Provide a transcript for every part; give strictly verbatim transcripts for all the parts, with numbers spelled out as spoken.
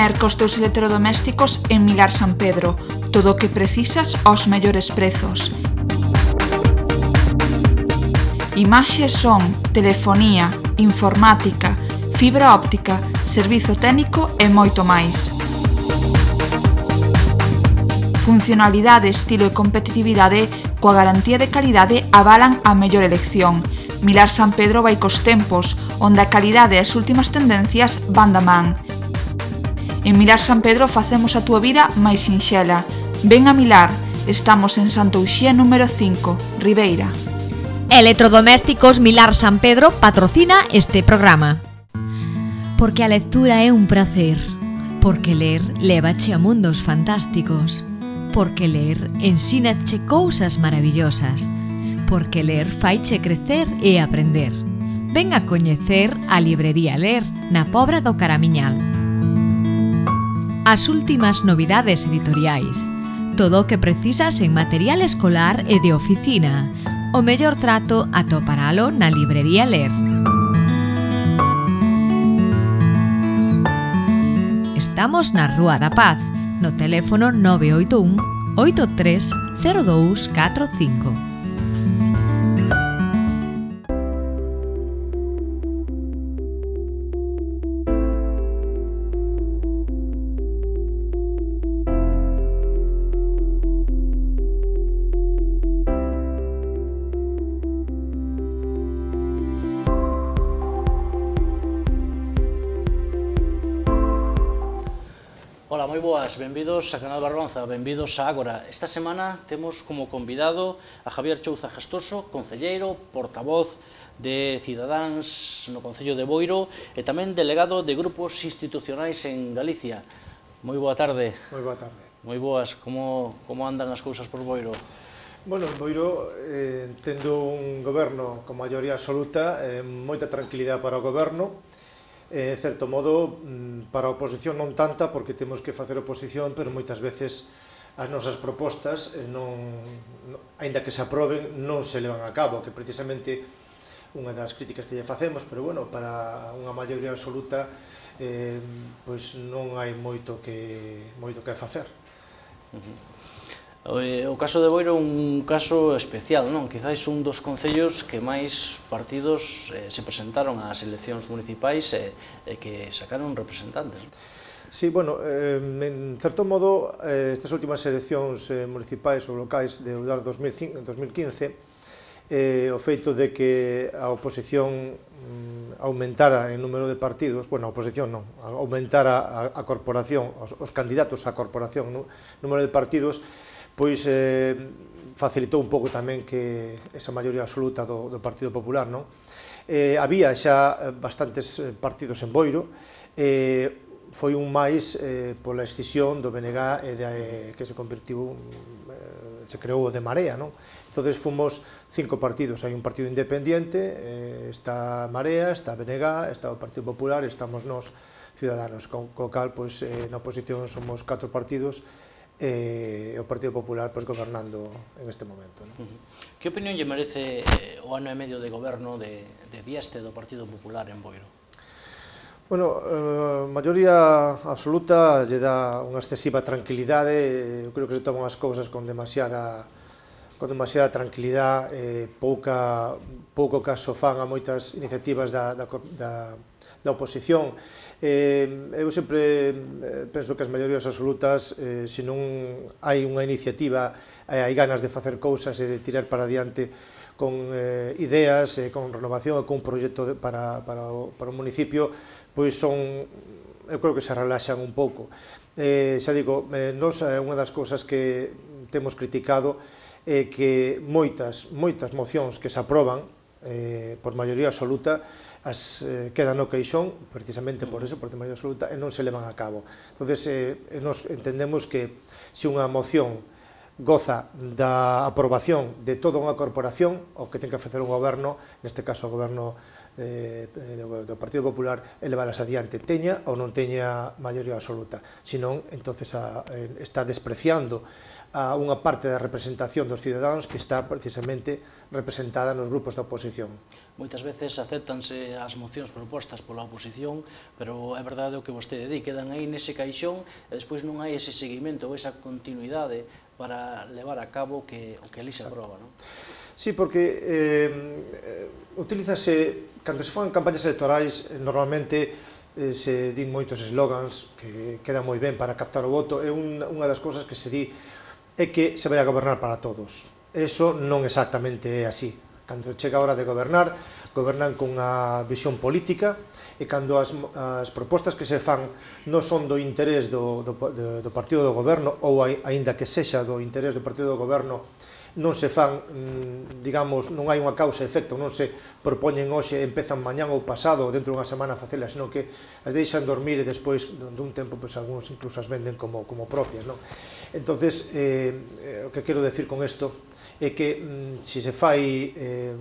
merca os teus electrodomésticos en Milar San Pedro. Todo o que precisas aos mellores prezos. Imaxe, son, telefonía, informática, fibra óptica, servizo técnico e moito máis. Funcionalidade, estilo e competitividade coa garantía de calidade avalan a mellor elección. Milar San Pedro vai cos tempos, onde a calidade e as últimas tendencias van da man. En Milar San Pedro facemos a túa vida máis sinxela. Ven a Milar, estamos en Santa Uxía número cinco, Ribeira. Electrodomésticos Milar San Pedro patrocina este programa. Porque a lectura é un prazer. Porque ler lévache a mundos fantásticos. Porque ler ensínache cousas maravillosas. Porque ler faiche crecer e aprender. Ven a coñecer a librería Ler na Pobra do Caramiñal. As últimas novidades editoriais. Todo o que precisas en material escolar e de oficina. O mellor trato atoparalo na librería Ler. Estamos na Rúa da Paz, no teléfono nove oito un, oito tres cero dous catro cinco. Ola, moi boas, benvidos a Canal Barbanza, benvidos a Ágora. Esta semana temos como convidado a Javier Chouza Gestoso, concelleiro, portavoz de Cidadáns no Concello de Boiro e tamén delegado de grupos institucionais en Galicia. Moi boa tarde. Moi boa tarde. Moi boas, como, como andan as cousas por Boiro? Bueno, en Boiro, eh, tendo un goberno con maioría absoluta, eh, moita tranquilidade para o goberno, en certo modo, para a oposición non tanta, porque temos que facer oposición, pero moitas veces as nosas propostas, non, aínda que se aproben, non se levan a cabo, que precisamente unha das críticas que lle facemos, pero bueno, para unha maioría absoluta, eh, pois non hai moito que, moito que facer. Uh-huh. O caso de Boiro é un caso especial, non? Quizáis un dos concellos que máis partidos eh, se presentaron ás eleccións municipais e, e que sacaron representantes. Sí, bueno, eh, en certo modo, eh, estas últimas eleccións eh, municipais ou locais de dos mil quince, eh, o feito de que a oposición mm, aumentara en número de partidos, bueno, a oposición non, aumentara a, a corporación, os, os candidatos á corporación, no, número de partidos, pois eh, facilitou un pouco tamén que esa maioría absoluta do, do Partido Popular, non? Eh, había xa bastantes partidos en Boiro, eh, foi un máis eh, pola escisión do B N G e de, eh, que se convertiu, eh, se creou de Marea, non? Entonces fomos cinco partidos, hai un partido independiente, eh, está Marea, está B N G, está o Partido Popular, estamos nós, Ciudadanos, co, co cal, pois, eh, na oposición somos catro partidos, e o Partido Popular pois, gobernando en este momento. ¿No? Que opinión lle merece eh, o ano e medio de goberno de, de Dieste do Partido Popular en Boiro? Bueno, a eh, maioría absoluta lle dá unha excesiva tranquilidade, eu creo que se toman as cousas con demasiada con demasiada tranquilidade, eh, pouca, pouco caso fan a moitas iniciativas da, da, da, da oposición. Eh, eu sempre penso que as maiorías absolutas, eh, se non hai unha iniciativa, eh, hai ganas de facer cousas e de tirar para adiante con eh, ideas, eh, con renovación e con un proxecto de, para, para, o, para o municipio, pois son, eu creo que se relaxan un pouco. Eh, xa digo, eh, nos, eh, unha das cousas que temos criticado é que moitas, moitas mocións que se aproban eh, por maioría absoluta as eh, quedan no queixón, precisamente por eso, por maioría absoluta, e non se levan a cabo. Entonces, eh, nos entendemos que se unha moción goza da aprobación de toda unha corporación, o que ten que facer un goberno, neste caso o goberno eh, do Partido Popular, é levalas adiante, teña ou non teña maioría absoluta. Senón, entonces, a, eh, está despreciando a unha parte da representación dos cidadáns que está precisamente representada nos grupos da oposición. Moitas veces aceptanse as mocións propostas pola oposición, pero é verdade o que vostede di, quedan aí nese caixón e despois non hai ese seguimento ou esa continuidade para levar a cabo que, o que ali se aproba, non? Sí, porque eh, utilízase, cando se fan campañas electorais, normalmente eh, se din moitos eslogans que quedan moi ben para captar o voto, e un, unha das cousas que se di é que se vai a gobernar para todos. Eso non exactamente é así. Cando chega a hora de gobernar, gobernan con unha visión política, e cando as, as propostas que se fan non son do interés do, do, do partido do goberno, ou aínda que sexa do interés do partido do goberno, non se fan, digamos, non hai unha causa e efecto, non se propoñen hoxe, empezan mañán ou pasado, ou dentro dunha semana a facelas, senón que as deixan dormir e despois dun tempo, pois, algúns incluso as venden como, como propias, non? Entonces, eh, o que quero decir con isto é que mm, se se fai eh,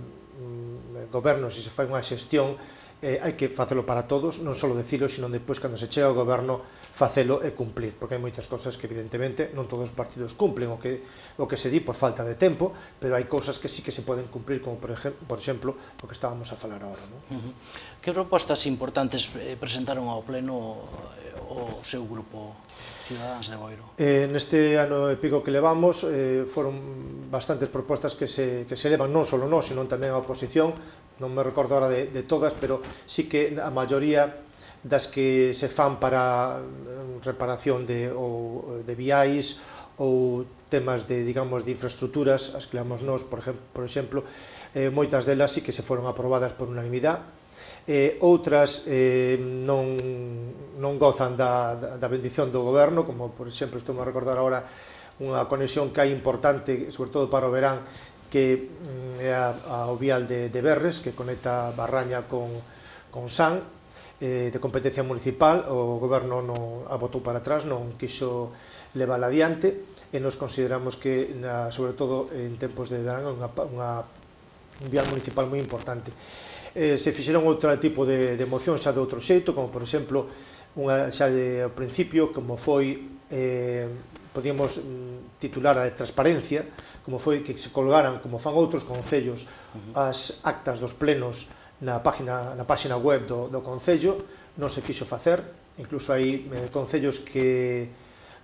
goberno, se se fai unha xestión, eh, hai que facelo para todos, non só decilo, sino depois, cando se chega ao goberno, facelo e cumplir, porque hai moitas cousas que evidentemente non todos os partidos cumplen o que, o que se di por falta de tempo, pero hai cousas que sí que se poden cumplir, como por, ejemplo, por exemplo o que estábamos a falar agora, non? Uh-huh. Que propostas importantes presentaron ao pleno o seu grupo Cidadáns de Boiro? Eh, neste ano e pico que levamos eh, foron bastantes propostas que se, que se levan non só nós, sino tamén a oposición, non me recordo agora de, de todas, pero sí que a maioría das que se fan para reparación de, ou, de viais ou temas de, digamos, de infraestructuras, as que levamos nós, por exemplo, por exemplo eh, moitas delas sí que se foron aprobadas por unanimidade, eh, outras eh, non, non gozan da, da, da bendición do goberno, como por exemplo, estou a recordar agora unha conexión que hai importante, sobre todo para o verán, que é a, a o vial de, de Berres, que conecta Barraña con, con San, eh, de competencia municipal. O goberno non a botou para atrás, non quiso levar adiante, e nos consideramos que, na, sobre todo en tempos de verán, unha, unha, un vial municipal moi importante. Eh, se fixeron outro tipo de, de moción xa de outro xeito, como por exemplo unha xa de ao principio, como foi, eh, podíamos titular a de transparencia, como foi que se colgaran, como fan outros concellos, as actas dos plenos na página, na página web do, do concello. Non se quixo facer, incluso hai eh, concellos que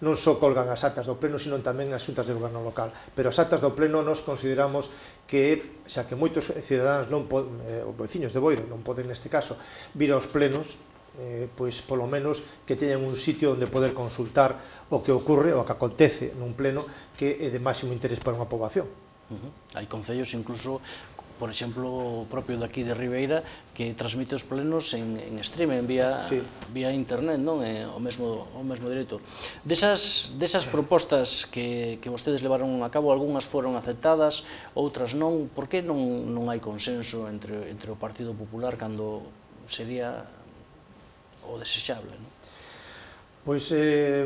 non só colgan as actas do pleno, sino tamén as xuntas de goberno local, pero as actas do pleno nos consideramos que, xa que moitos cidadáns, non eh, os veciños de Boiro non poden neste caso vir aos plenos, eh, pois polo menos que teñan un sitio onde poder consultar o que ocurre, o que acontece nun pleno, que é de máximo interés para unha poboación. Uh-huh. Hai concellos incluso, por exemplo, o propio daqui de Ribeira, que transmite os plenos en, en stream, en vía, sí. vía internet, non? É o mesmo, o mesmo dereito. Desas, desas propostas que, que vostedes levaron a cabo, algunhas foron aceptadas, outras non. Por que non, non hai consenso entre, entre o Partido Popular cando sería o desexable, non? Pois, eh,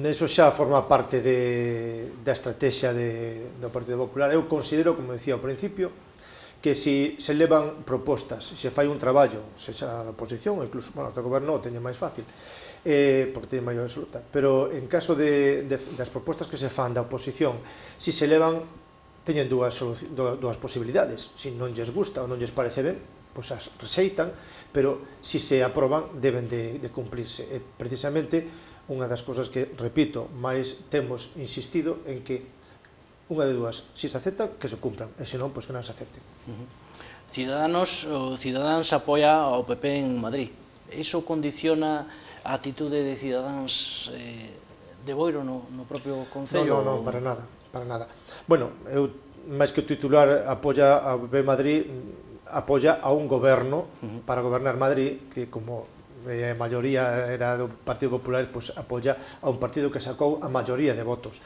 eso xa forma parte de, da estrategia de, do Partido Popular. Eu considero, como decía ao principio, que se se levan propostas, se fai un traballo, se xa da oposición, ou incluso, bueno, do goberno o teñe máis fácil, eh, porque teñe maior absoluta, pero en caso de, de, das propostas que se fan da oposición, se se levan, teñen dúas, dúas posibilidades. Se non lles gusta ou non lles parece ben, pois as rexeitan, pero se se aproban deben de, de cumplirse. E precisamente unha das cousas que, repito, máis temos insistido en que unha de dúas, se se acepta, que se cumpran, e se non, pois que non se acepten. Uh-huh. Ciudadanos, o Cidadáns apoia ao P P en Madrid. Iso condiciona a atitude de Cidadáns eh, de Boiro no, no propio concello? Non, non, non, para nada, para nada. Bueno, eu, máis que o titular apoia ao P P en Madrid, apoia a un goberno uh-huh. para gobernar Madrid, que como a maioría era do Partido Popular, pois apoia a un partido que sacou a maioría de votos,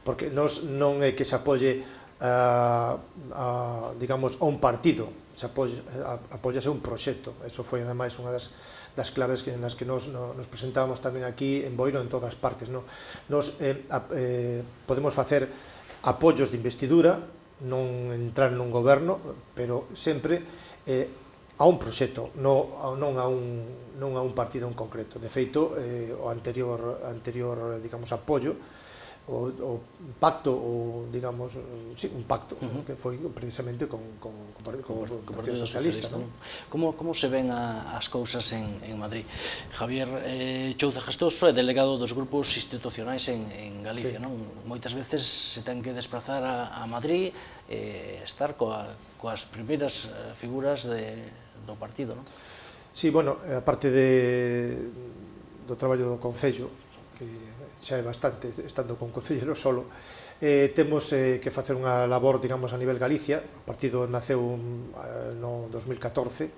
porque nos non é que se apoie a, a, digamos, a un partido, se apoia, apoiase un proxecto. Eso foi ademais unha das, das claves que, en las que nos, no, nos presentábamos tamén aquí en Boiro, en todas partes, no? Nos eh, a, eh, podemos facer apoios de investidura, non entrar nun goberno, pero sempre eh, a un proxecto, non, non, a un, non a un partido en concreto. De feito, eh, o anterior, anterior digamos, apoio o, o pacto, ou, digamos, sí, un pacto, uh -huh. que foi precisamente con, con, con, con, con, con o Partido Socialista. Socialista, ¿no? Como, como se ven a, as cousas en, en Madrid? Javier eh, Chouza Gestoso é delegado dos grupos institucionais en, en Galicia, sí. Non? Moitas veces se ten que desplazar a, a Madrid e eh, estar coa, coas primeiras figuras de, do partido, non? Sí, bueno, a parte de, do traballo do Concello, que xa é bastante, estando con Concellero solo, eh, temos eh, que facer unha labor, digamos, a nivel Galicia. O partido naceu eh, no dos mil catorce,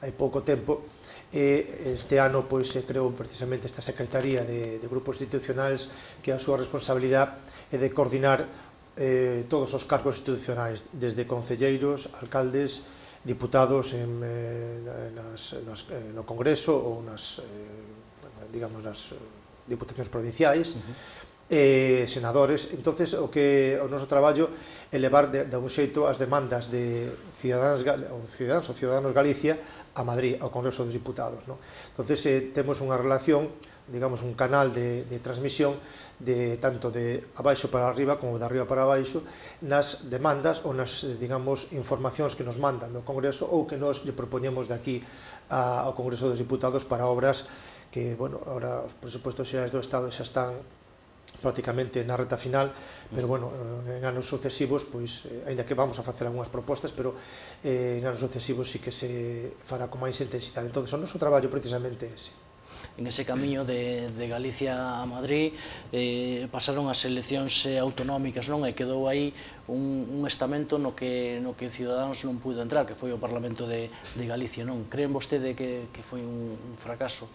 hai pouco tempo, e este ano pois, se creou precisamente esta Secretaría de, de Grupos Institucionais, que a súa responsabilidade é de coordinar eh, todos os cargos institucionais, desde concelleiros, alcaldes, diputados en, eh, nas, nas, eh, no Congreso ou nas, eh, digamos, nas diputacións provinciais, uh -huh. eh, senadores. Entonces, o que o noso traballo é levar de, de un xeito as demandas de cidadáns ou cidadáns ou ciudadanos Galicia a Madrid, ao Congreso dos Diputados, ¿no? Entonces, eh, temos unha relación, digamos, un canal de, de transmisión de tanto de abaixo para arriba como de arriba para abaixo nas demandas ou nas, digamos, informacións que nos mandan do Congreso ou que nos lle propoñemos de aquí a, ao Congreso dos Diputados para obras que, bueno, ahora os presupostos xerais do Estado xa están prácticamente na reta final, pero, bueno, en anos sucesivos, pois, eh, ainda que vamos a facer algunhas propostas, pero eh, en anos sucesivos sí que se fará con máis intensidade. Entón, o noso traballo precisamente é ese. En ese camiño de, de Galicia a Madrid eh, pasaron as eleccións autonómicas, non? E quedou aí un, un estamento no que, no que Ciudadanos non pudo entrar, que foi o Parlamento de, de Galicia, non? Creen vostede que, que foi un, un fracaso?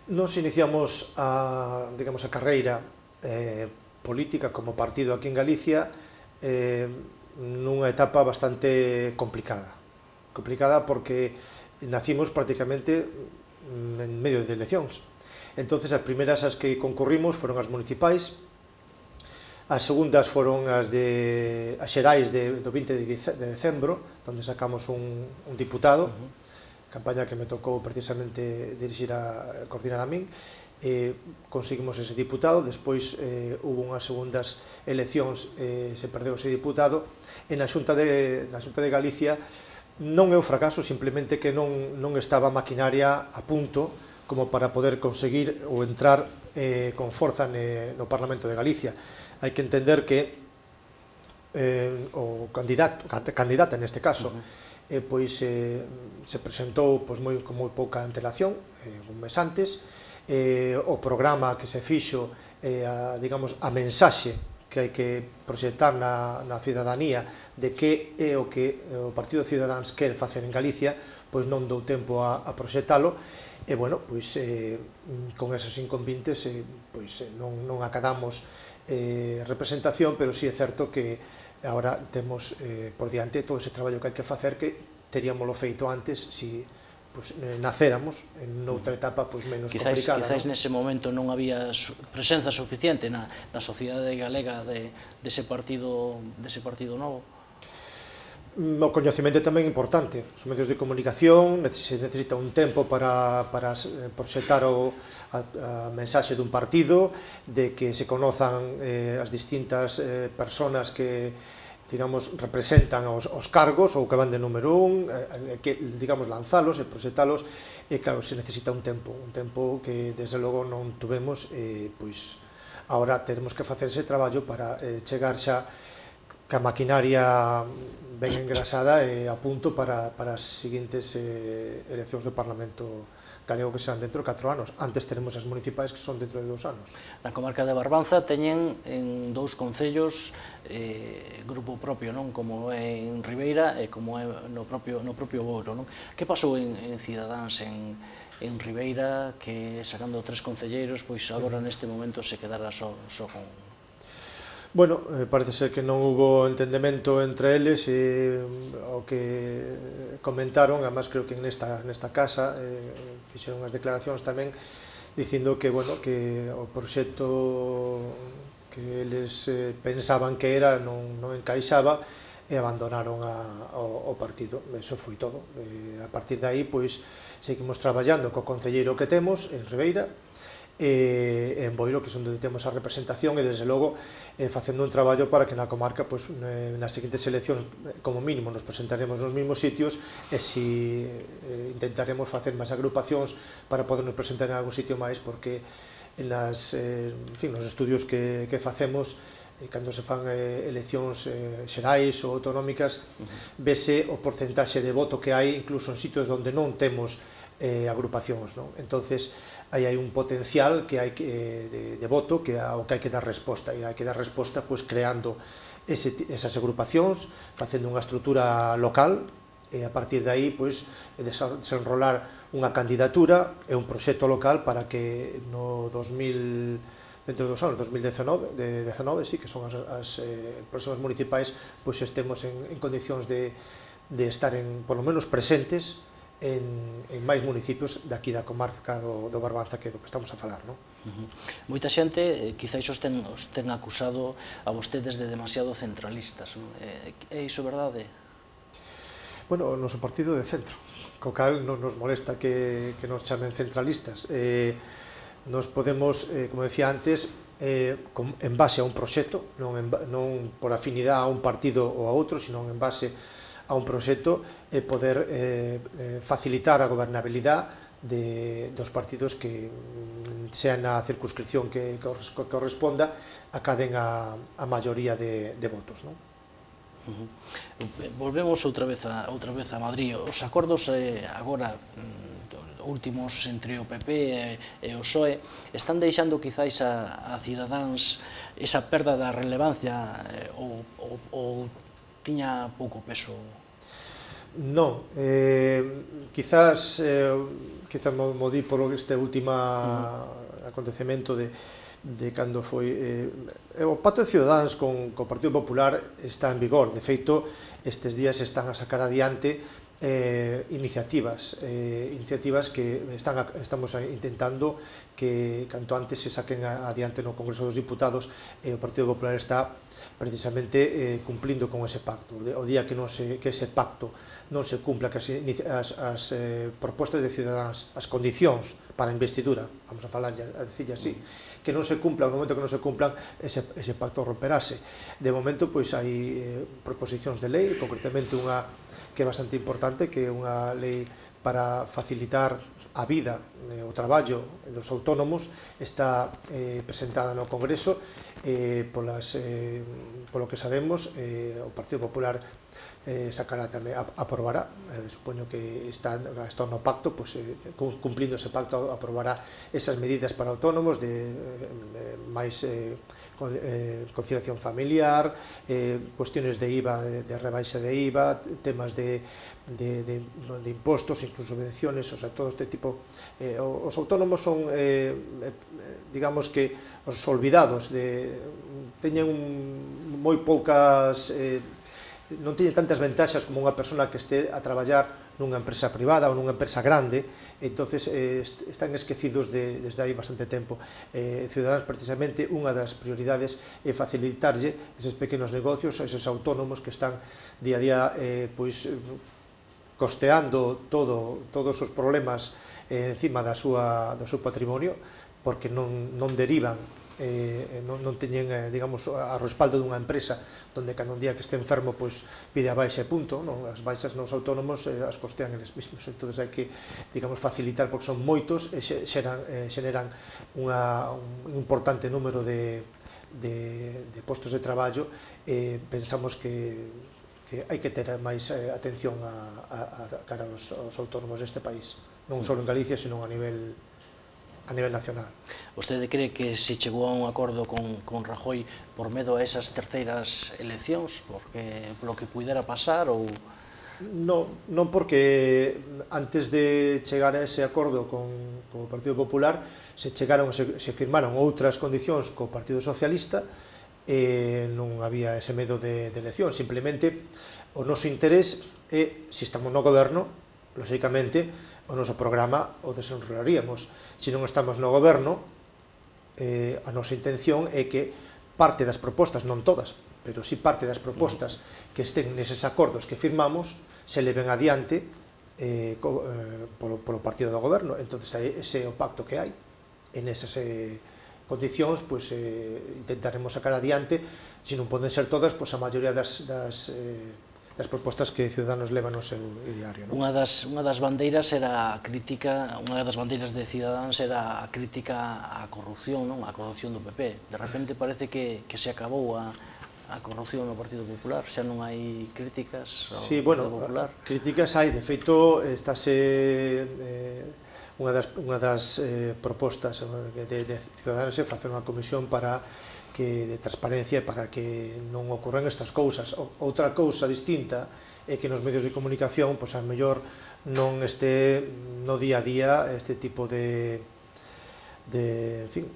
Nos iniciamos a, digamos, a carreira eh, política como partido aquí en Galicia eh, nunha etapa bastante complicada. Complicada porque nacimos prácticamente en medio de eleccións. Entonces, as primeiras as que concurrimos foron as municipais, as segundas foron as de as xerais de, do vinte de decembro, onde sacamos un, un diputado, uh -huh. campaña que me tocou precisamente dirixir a coordinar a min, eh, conseguimos ese diputado. Despois eh, hubo unhas segundas eleccións, eh, se perdeu ese diputado, e na Xunta de, na Xunta de Galicia non é un fracaso, simplemente que non, non estaba a maquinaria a punto como para poder conseguir ou entrar eh, con forza ne, no Parlamento de Galicia. Hai que entender que eh, o candidato, candidata neste caso, uh -huh. Eh, pois eh, se presentou pois, moi, con moi pouca antelación, eh, un mes antes. Eh, o programa que se fixo, eh, a, digamos, a mensaxe que hai que proxectar na, na cidadanía de que é o que o Partido Cidadáns quer facer en Galicia, pois non dou tempo a, a proxectalo, e, bueno, pois eh, con esos inconvintes eh, pois, non, non acadamos eh, representación, pero sí é certo que agora temos eh, por diante todo ese traballo que hai que facer, que teríamoslo feito antes si pues, eh, nacéramos en outra etapa pues, menos quizás, complicada. Quizás ¿no? nese momento non había presenza suficiente na, na sociedade galega de, dese partido, dese partido novo. O coñecemento tamén é importante. Os medios de comunicación se necesita un tempo para, para proxectar o, a, a mensaxe dun partido, de que se conozan eh, as distintas eh, personas que, digamos, representan os, os cargos ou que van de número un, eh, que, digamos, lanzalos e proxectalos, e claro, se necesita un tempo, un tempo que desde logo non tuvemos, e pois agora teremos que facer ese traballo para eh, chegar xa ca maquinaria ben engrasada e a punto para, para as seguintes eh, eleccións do Parlamento galego, que serán dentro de catro anos. Antes tenemos as municipais que son dentro de dous anos. Na comarca de Barbanza teñen en dous concellos eh, grupo propio, non? Como é en Ribeira e como é no propio, no propio Bouro, non? Que pasou en, en Cidadáns en, en Ribeira, que sacando tres concelleiros, pois agora neste momento se quedara só, só con... Bueno, eh, parece ser que non hubo entendemento entre eles, e o que comentaron, además creo que nesta, nesta casa eh, fixeron as declaracións tamén dicindo que, bueno, que o proxecto que eles eh, pensaban que era non, non encaixaba e abandonaron a, o, o partido. Eso foi todo. Eh, a partir de aí, pois, seguimos traballando co concelleiro que temos en Ribeira, e en Boiro, que é onde temos a representación, e desde logo facendo un traballo para que na comarca nas seguintes eleccións como mínimo nos presentaremos nos mesmos sitios, e si intentaremos facer máis agrupacións para podernos presentar en algún sitio máis, porque nos estudios que facemos, cando se fan eleccións xerais ou autonómicas, vese o porcentaxe de voto que hai incluso en sitios onde non temos agrupacións. Entonces, aí hai un potencial que hai de voto ao que hai que dar resposta, e hai que dar resposta creando esas agrupacións, facendo unha estrutura local, e a partir de aí desenrolar unha candidatura e un proxecto local para que no dos mil dentro dos anos dos mil dezanove, que son as próximas municipais, estemos en condicións de estar polo menos presentes en máis municipios daqui da comarca do Barbanza, que é do que estamos a falar. Moita xente quizáis os ten acusado a vostedes de demasiado centralistas. É iso verdade? Bueno, o noso partido de centro, co cal non nos molesta que nos chamen centralistas. Nos podemos, como decía antes, en base a un proxecto, non por afinidade a un partido ou a outro, sino en base a un proxecto, e poder facilitar a gobernabilidade dos partidos que, sean na circunscripción que corresponda, acaden a maioría de votos. Volvemos outra vez a Madrid. Os acordos agora últimos entre o P P e o P S O E están deixando quizáis a Cidadáns esa perda da relevancia ou tiña pouco peso? Non, quizás quizás mo di por este último acontecemento de cando foi o pacto de Cidadáns con o Partido Popular está en vigor. De feito, estes días están a sacar adiante iniciativas iniciativas que estamos intentando que canto antes se saquen adiante no Congreso dos Diputados, e o Partido Popular está precisamente cumplindo con ese pacto. O día que ese pacto non se cumpla, que as propostas de Cidadáns, as condicións para a investidura, vamos a falar, a decirle así, que non se cumplan, no momento que non se cumplan, ese pacto romperase. De momento, pois, hai proposicións de lei, concretamente unha que é bastante importante, que é unha lei para facilitar a vida, o traballo dos autónomos, está presentada no Congreso, polo que sabemos, o Partido Popular sacará tamén, aprobará, supoño que está no pacto, cumplindo ese pacto, aprobará esas medidas para autónomos de máis conciliación familiar, cuestiones de I V A, de rebaixa de I V A, temas de impostos, incluso subvenciones, o sea, todo este tipo. Os autónomos son, digamos que, os olvidados, teñen moi poucas, non teñen tantas ventaxas como unha persona que este a traballar nunha empresa privada ou nunha empresa grande, entonces están esquecidos desde hai bastante tempo. Cidadáns, precisamente, unha das prioridades é facilitarlle eses pequenos negocios, eses autónomos que están día a día costeando todos os problemas encima do seu patrimonio, porque non derivan, non teñen, digamos, a respaldo dunha empresa onde cada un día que este enfermo pide a baixa e punto. As baixas nos autónomos as costean eles mesmos, entón hai que, digamos, facilitar, porque son moitos e xeneran un importante número de postos de traballo, e pensamos que hai que ter máis atención cara aos autónomos deste país, non só en Galicia, sino a nivel a nivel nacional. Vostede cree que se chegou a un acordo con Rajoy por medo a esas terceiras eleccións, polo que pudera pasar, ou...? Non, porque antes de chegar a ese acordo con o Partido Popular se chegaron, se firmaron outras condicións co Partido Socialista, e non había ese medo de elección. Simplemente o noso interés é, se estamos no goberno, lóxicamente, o noso programa o desenrolaríamos. Se non estamos no goberno, a nosa intención é que parte das propostas, non todas, pero si parte das propostas que estén neses acordos que firmamos, se leven adiante polo partido do goberno. Entón, ese é o pacto que hai. e nesas eh, condicións pois, eh, intentaremos sacar adiante, se non poden ser todas, pois, a maioría das, das, eh, das propostas que Ciudadanos leva no seu diario. Non? Unha das, unha das bandeiras era a crítica, unha das bandeiras de Ciudadanos era a crítica á corrupción, non? A corrupción do P P. De repente parece que, que se acabou a, a corrupción no Partido Popular, xa non hai críticas ao sí, bueno, Partido Popular. Críticas hai, de feito, estáse... Eh, Unha das, unha das eh, propostas de, de Ciudadanos é facer unha comisión para que, de transparencia para que non ocorren estas cousas. O, outra cousa distinta é que nos medios de comunicación, pois, a mellor non este no día a día este tipo de, de, en fin,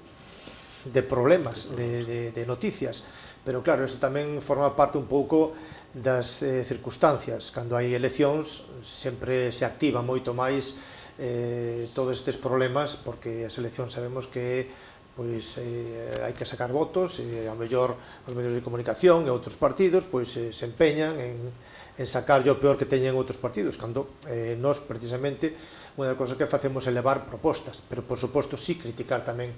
de problemas, de, de, de noticias. Pero claro, isto tamén forma parte un pouco das eh, circunstancias. Cando hai eleccións sempre se activa moito máis Eh, todos estes problemas, porque as eleccións sabemos que pois, eh, hai que sacar votos, e a mellor os medios de comunicación e outros partidos pois, eh, se empeñan en, en sacar o peor que teñen outros partidos, cando eh, nós precisamente unha das cousas que facemos é levar propostas, pero por suposto sí criticar tamén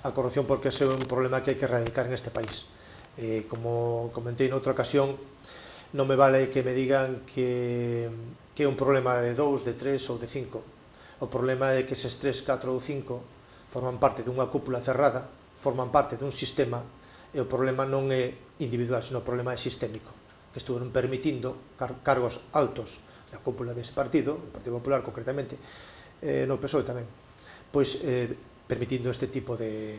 a corrupción, porque ese é un problema que hai que erradicar en este país. Eh, como comentei noutra ocasión, non me vale que me digan que, que é un problema de dous, de tres ou de cinco. O problema é que eses tres, catro ou cinco forman parte dunha cúpula cerrada, forman parte dun sistema, e o problema non é individual, sino o problema é sistémico, que estuveron permitindo car cargos altos da cúpula dese partido, do Partido Popular concretamente, eh, no P S O E tamén, pois eh, permitindo este tipo de,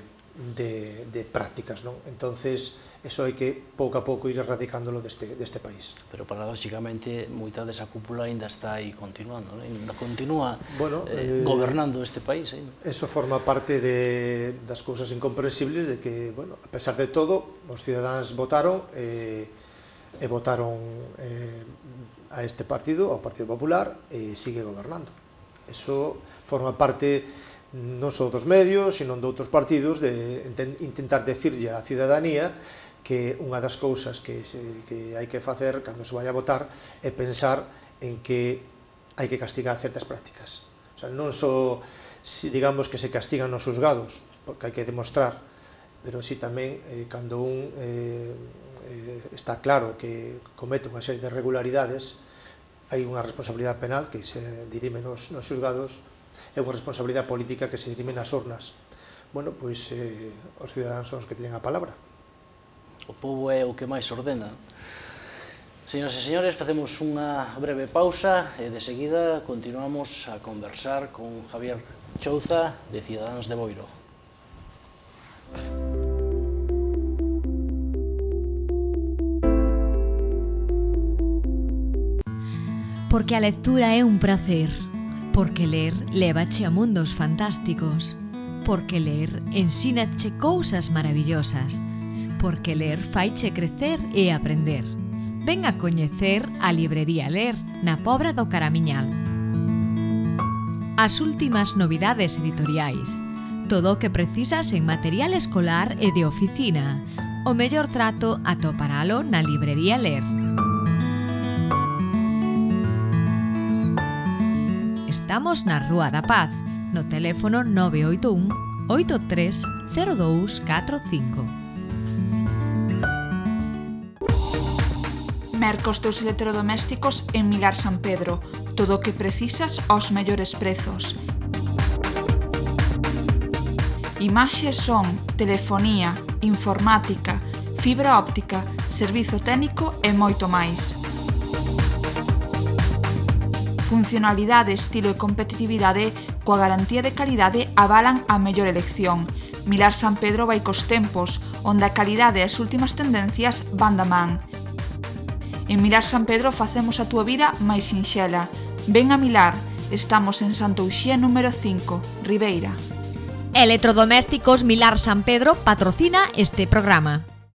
de, de prácticas, non? Entonces, eso hai que pouco a pouco ir erradicándolo deste, deste país. Pero paradóxicamente moita desa cúpula ainda está aí continuando, non? Ainda continúa bueno, eh, eh, gobernando este país. Eh? Eso forma parte de, das cousas incomprensibles de que, bueno, a pesar de todo, os cidadáns votaron e, e votaron eh, a este partido, ao Partido Popular, e sigue gobernando. Eso forma parte non só dos medios, sino de outros partidos, de intentar decirlle á cidadanía que unha das cousas que, se, que hai que facer cando se vai a votar é pensar en que hai que castigar certas prácticas. O sea, non só, si, digamos, que se castigan nos xuzgados, porque hai que demostrar, pero si tamén, eh, cando un eh, eh, está claro que comete unha serie de irregularidades, hai unha responsabilidade penal que se dirime nos, nos xuzgados, e unha responsabilidade política que se dirime nas urnas. Bueno, pois eh, os cidadáns son os que teñen a palabra. O povo é o que máis ordena. Señoras e señores, facemos unha breve pausa e de seguida continuamos a conversar con Javier Chouza de Cidadáns de Boiro. Porque a lectura é un prazer, porque ler lévache a mundos fantásticos, porque ler ensínache cousas maravillosas, porque ler faiche crecer e aprender. Ven a coñecer a librería Ler na Pobra do Caramiñal. As últimas novidades editoriais, todo o que precisas en material escolar e de oficina. O mellor trato atoparalo na librería Ler. Estamos na Rúa da Paz, no teléfono nove oito un, oito tres cero dous catro cinco. Mercos teus electrodomésticos en Milar San Pedro. Todo o que precisas aos mellores prezos. Imaxes son telefonía, informática, fibra óptica, servizo técnico e moito máis. Funcionalidade, estilo e competitividade coa garantía de calidade avalan a mellor elección. Milar San Pedro vai cos tempos, onde a calidade e as últimas tendencias van da man. En Milar San Pedro facemos a túa vida máis sinxela. Ven a Milar, estamos en Santo Uxía número cinco, Ribeira. Electrodomésticos Milar San Pedro patrocina este programa.